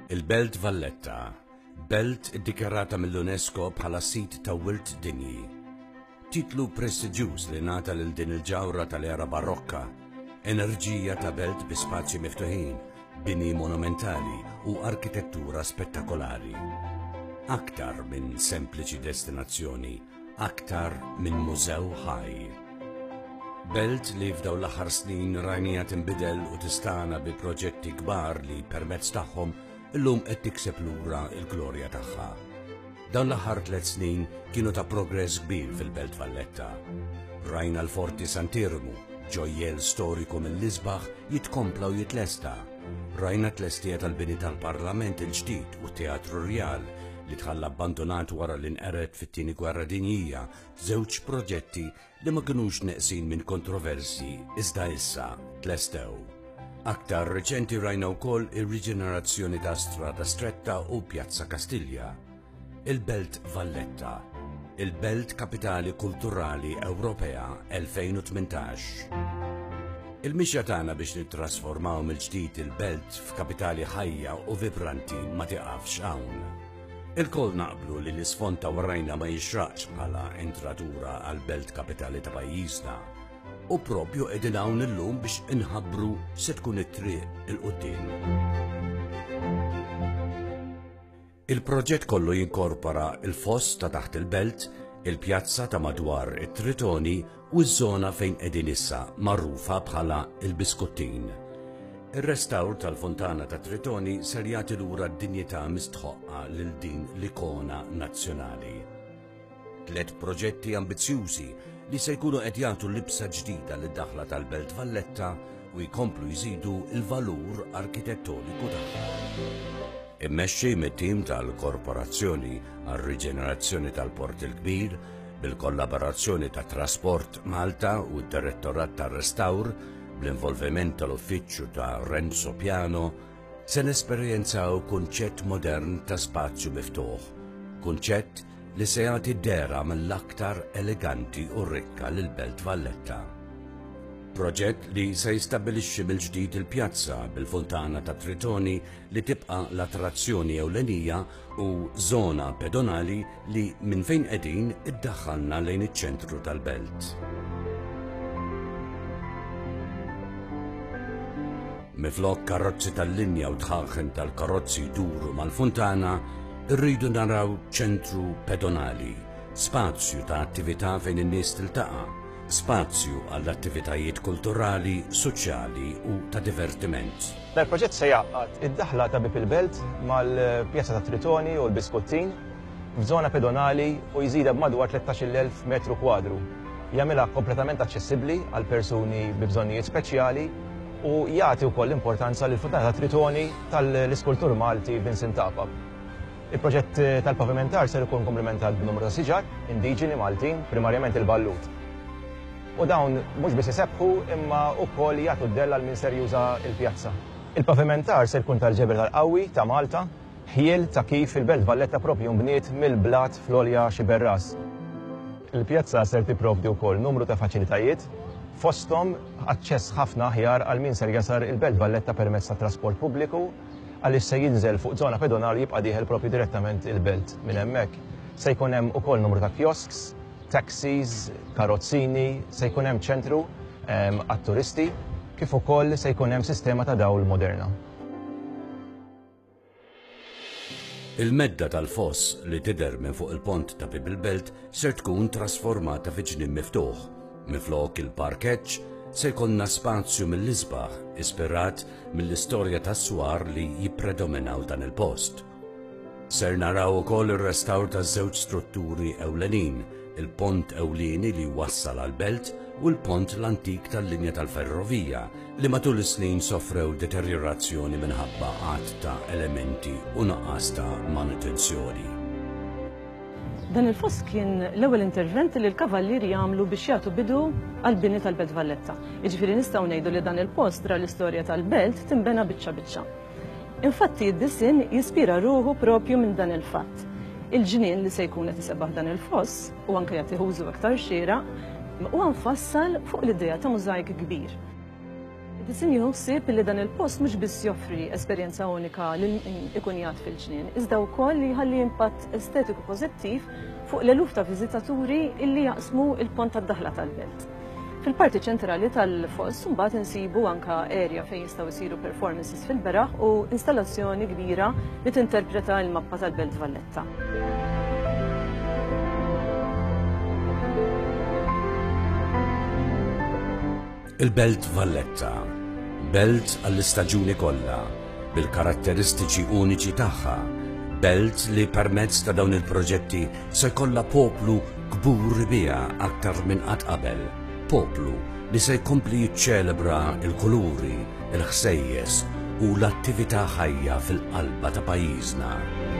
Il-Belt Valletta, belt iddikjarata mill-UNESCO bħala sit ta' Wirt Dinji. Titlu prestiġjuż li ngħata lil din il-ġawhra tal-era Barokka, enerġija ta' belt bi spazji miftuħin, bini monumentali u arkitettura spettakolari. Aktar minn sempliċi destinazzjoni, aktar minn mużew ħaj. Belt li f'dawn l-aħħar snin rajnija tinbidel u tistana bi proġetti kbar li permezz tagħhom illum qed tikseb lura l-glorja tagħha. Dawn l-aħħar tliet snin kienu ta' progress kbir fil-Belt Valletta. Rajna l-Forti Sant'Iermu, ġojjel storiku mill-isbaħ jitkompla u jitlesta. Rajna t-tlestija tal-bini tal-Parlament il-ġdid u t-Teatru Rjal li tħalla abbandonat wara li nqered fit-Tieni Gwerra Dinjija, żewġ proġetti li ma kinux neqsin minn kontroversji iżda issa tlestew. Aktar reċenti rajna wkoll ir-riġenerazzjoni ta' Strada Stretta u Pjazza Kastilja. Il-Belt Valletta, il-Belt Kapitali Kulturali Ewropea 2018. Il-mixja tagħna biex nittrasformaw mill-ġdid il-belt f'kapitali ħajja u vibranti ma tiqafx hawn. Ilkoll naqblu li l-isfond ta' warajna ma jixraqx bħala entratura għal belt kapitali ta' pajjiżna. U propju qegħdin hawn illum biex inħabbru se tkun it-triq 'il quddiem. Il-proġett kollu jinkorpora l-foss ta' taħt il-belt, il-pjazza ta' madwar it-Tritoni u ż-żona fejn qegħdin issa magħrufa bħala l-Biskuttin. Ir-restawr tal-Fontana tat-Tritoni ser jagħti lura d-dinjità mistħoqqa lil din l-ikona nazzjonali. Tliet proġetti ambizzjużi li se jkunu qed jagħtu libsa ġdida lid-daħla tal-Belt Valletta u jkomplu jżidu l-valur arkitettoniku tagħha. Immexxi mit-tim tal-Korporazzjoni għar-Riġenerazzjoni tal-Port il-Kbir, bil-kollaborazzjoni ta' Trasport Malta u d-Direttorat tar-Restawr, bl-involviment tal-Uffiċċju ta' Renzo Piano, Se nesperjenzaw kunċett modern ta' spazju miftuħ, kunċett li se jagħti dehra mill-aktar eleganti u rikka lill-Belt Valletta. Proġett li se jistabbilixxi mill-ġdid il-pjazza bil-funtana ta' Tritoni li tibqa' l-attrazzjoni ewlenija u żona pedonali li minn fejn qegħdin iddaħħalna lejn iċ-ċentru tal-belt. Minflok karozzi tal-linja u dħaħen tal-karozzi jduru mal-funtana, irridu naraw ċentru pedonali, spazju ta' attività fejn in-nies tiltaqa', spazju għall-attivitajiet kulturali, soċjali u ta' divertiment. Dal-proġett se jgħaqqad id-daħla ta' Bieb il-Belt mal-Pjazza tat-Tritoni u l-Biskuttin f'żona pedonali u jżidha b'madwar 13,000 metru kwadru. Jagħmilha kompletament aċċessibbli għal persuni bi bżonnijiet speċjali u jagħti wkoll importanza lill-Funtana tat-Tritoni tal-iskultur Malti Vincent Apap. Il-proġett tal-pavimentar ser ikun komplementat b'numru ta' siġar indiġeni Maltin, primarjament il-ballut. U dawn mhux biss isebbħu imma wkoll jagħtu d-dell għal min ser juża l-pjazza. Il-pavimentar ser jkun tal-ġebel tal-qawwi ta' Malta, ħjiel ta' kif il-Belt Valletta proprju nbniet mill-blat fl-għolja Xiberras. Il-pjazza ser tipprovdi wkoll numru ta' faċilitajiet, fosthom aċċess ħafna aħjar għal min ser jasar il-Belt Valletta permezz ta' trasport pubbliku għaliex se jinżel fuq żona pedonali jibqa' dieħel proprju direttament il-Belt minn hemmhekk. Se jkun hemm ukoll numru ta' kiosks, taxis, karozzini, se jkun hemm ċentru ehm, għat-turisti kif ukoll se jkun hemm sistema ta' dawl moderna. Il-medda tal-foss li tidher minn fuq il-pont ta' Bieb il-Belt ser tkun trasformata fi ġnien miftuħ. Minflok il-parkeġġ, se jkollna spazju mill-isbaħ ispirat mill-istorja tas-swar li jippredominaw dan il-post. Ser naraw ukoll ir-restawr ta' żewġ strutturi ewlenin, il-pont ewlieni li jwassal għall-belt u l-pont l-antik tal-linja tal-ferrovija li matul is-snin sofrew deterjorazzjoni minħabba għadd ta' elementi u nuqqas ta' manutenzjoni. Dan il-foss kien l-ewwel intervent li l-Kavallieri għamlu biex jagħtu bidu għall-bini tal-Belt Valletta. Jiġifieri nistgħu ngħidu li dan il-post ra l-istorja tal-belt tinbena biċċa biċċa. Infatti d-disinn jispira ruħu propju minn dan il-fatt. Il-ġnien li se jkun qed isebaħ dan il-foss u anke jagħtih użu aktar xieraq huwa mfassal fuq l-idea ta' mużajk kbir. Id-disinn jieħu ħsieb li dan il-post mhux biss joffri esperjenza unika lil min ikun jgħad fil-ġnien, iżda wkoll li jħalli impatt estetiku pożittiv fuq l-eluf ta' viżitaturi illi jaqsmu il-pont tad-daħla tal-belt. Fil-parti ċentrali tal-foss mbagħad insibu anka area fejn jistgħu jsiru performances fil-beraħ u installazzjoni kbira li tinterpreta l-mappa tal-Belt Valletta. Il-Belt Valletta, belt għall-istaġuni kollha, bil-karatteristiċi uniċi tagħha, belt li permezz ta' dawn il-proġetti se jkollha poplu kburi biha aktar minn qatt qabel, poplu li se jkompli jiċċelebra l-kuluri, il-ħsejjes u l-attività ħajja fil-qalba ta' pajjiżna.